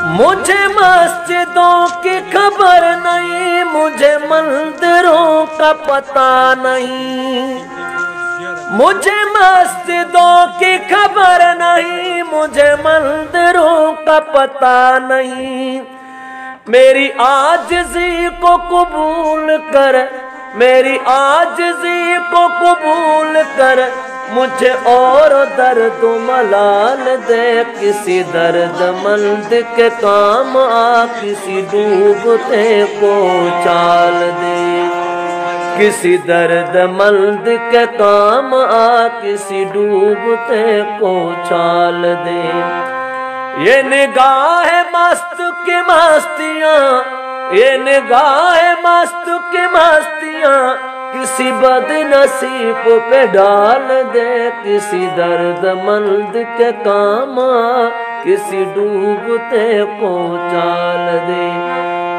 मुझे मस्जिदों की खबर नहीं, मुझे मंदिरों का पता नहीं। मुझे मस्जिदों की खबर नहीं, मुझे मंदिरों का पता नहीं। मेरी आजिज़ी को कबूल कर, मेरी आजिज़ी को कबूल कर, मुझे और दर्द मलाल दे। किसी दर्दमंद के काम आ, किसी डूबते को चाल दे। किसी दर्दमंद के काम आ, किसी डूबते को चाल दे। ये निगाह मस्त की मस्तियाँ, ये निगाह मस्त की मस्तियाँ, किसी बदनसीब पे डाल दे। किसी दर्दमंद के काम आ, किसी डूबते को चाल दे।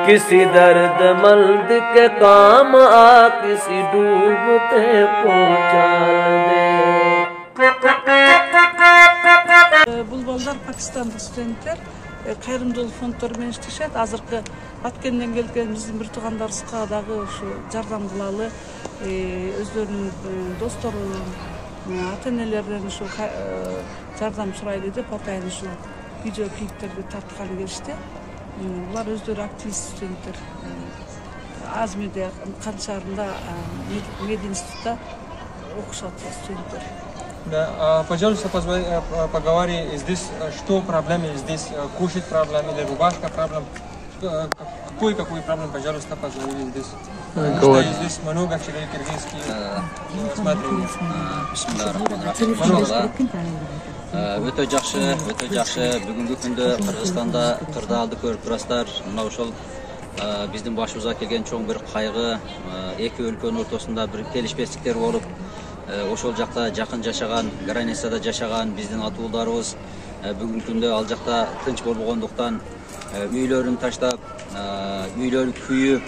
किसी दर्दमंद के काम आ, किसी डूबते को चाल दे। Бул балдар пакистандык студенттер кайрымдуулук фонддору менен иштешет. Азыркы Баткенден келген биздин бир туугандарыбызга дагы ушу жардам кылалы, өздөрүнүн достору, ата-энелеринен ушу жардам сурайлы деп атайын ушу видео клиптерди тартканы келишти. Булар өздөрү активист студенттер. Азмиде Кан шаарында мединститутта окушат студенттер. Да, пожалуйста, поговори здесь, что проблемы здесь, кушать проблем или рубашка проблем, какой проблем, пожалуйста, поговори здесь. Что здесь много человек киргизский, смотри. Өтө жакшы. Бүгүнкү күндө Кыргызстанда кырдаалды көрүп турасыздар. Мына ошол биздин башыбызга келген чоң бир кайгы, эки өлкөнүн ортосунда бир келишпестиктер болуп, ошол жакта жакын жашаган, границада жашаган биздин атуулдарыбыз бүгүнкү күндө ал жакта тынч болбогондуктан үйлөрүн таштап, үйлөрү күйүп,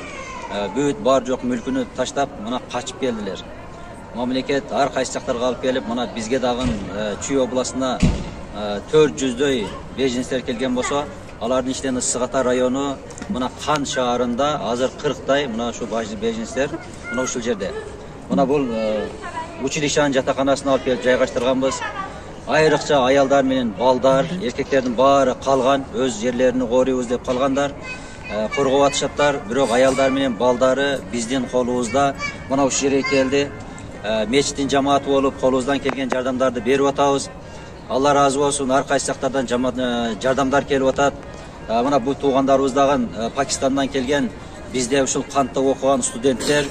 бүт бар жок мүлкүнү таштап, мына качып келдилер. Мамлекет ар кайсы жактарга алып келип, мына бизге дагы Чүй областына 400дөй беженецтер келген болсо, алардын ичинен Ысык Ата району, мына Кан шаарында азыр 40дай мына ушу беженецтер мына ушул жерде. Мына бул училищанын жатаканасына алып келип жайгаштырганбыз. Айрыкча аялдар менен балдар, эркектердин баары калган, өз жерлерин корuyбуз деп калгандар, коргоп атышаттар. Бирок аялдар менен балдары биздин колубузда мына ушул жерге келди. Мечиттин жамааты болуп, колубуздан келген жардамдарды берип атабыз. Алла разы болсун, ар кайсы жактардан жардамдар келип атат. Мына бул туугандарыбыз дагы Пакистандан келген, бизде ушул кантта окуган студенттер.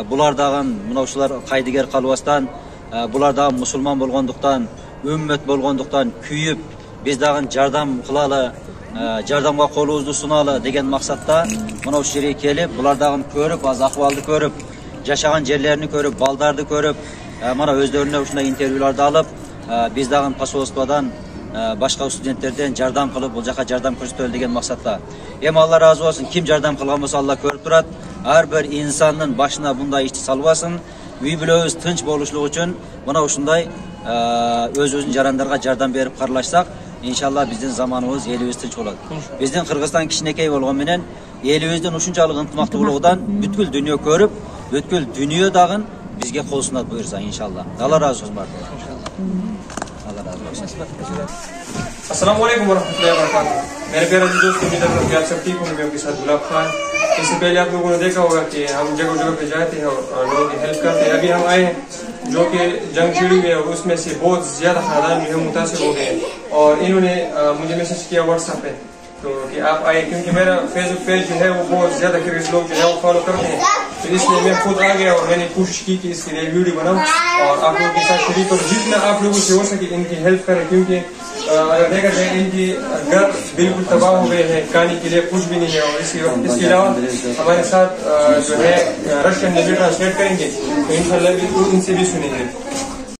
Булар дагы мына ушулар кайдыгер калбастан, булар дагы мусулман болгондуктан, үммөт болгондуктан күйүп, биз дагы жардам кылалы, жардамга колубузду суналы деген максатта мына ушул жерге келип, булар дагы көрүп, аз акыбалды көрүп, жашаган жерлерин көрүп, балдарды көрүп, мына өздөрүнө ушундай интервьюларды алып, биз дагы посольстводон башка студенттерден жардам кылып, бул жака жардам көрсөтөлү деген максатта. Эми Алла разы болсун, ким жардам кылган болсо Алла көрүп турат. Ар бир инсандын башына мындай ишти салбасын. Үй бүлөбүз тынч болушлугу үчүн мына ушундай өз-өзүнүн жарандарга жардам берип каралашсак, иншалла биздин заманыбыз, элибиз тынч болот. Биздин Кыргызстан кичинекей болгон менен элибиздин ушунчалык ынтымактуулугунан бүткүл дүйнө көрүп, бүткүл дүйнө дагы бизге кол сунат буюрса, иншалла. Алла разы болсун бардыгы. Алла разы болсун. अस्सलामु अलैकुम वरहमतुल्लाहि वबरकातुहू। मेरे प्यारे दोस्तों, उम्मीद है कि आप सब ठीक होंगे। आपके साथ गुलाब खान। इससे पहले आप लोगों ने देखा होगा कि हम जगह जगह पे जाते हैं और लोगों की हेल्प करते हैं। अभी हम आए हैं जो कि जंग छिड़ी हुई है, उसमें से बहुत ज्यादा खानदान जो है मुतासिर हो गए, और इन्होंने मुझे मैसेज किया व्हाट्सएप पे तो कि आप आए, क्योंकि मेरा फेसबुक पेज जो है वो बहुत ज्यादा किर्गिज लोग जो है वो फॉलो करते हैं, तो इसलिए मैं खुद आ गया और मैंने कोशिश की कि इसके लिए वीडियो बनाऊं और आप लोगों के साथ शेयर करूं, जितना आप लोगों से हो सके इनकी हेल्प करें। क्योंकि अगर देखा जाए इनकी घर बिल्कुल तबाह हो गए हैं, खाने के लिए कुछ भी नहीं है। और इसके अलावा हमारे साथ जो है रशियन में भी ट्रांसलेट करेंगे, तो इंशाल्लाह भी इनसे भी सुनेंगे।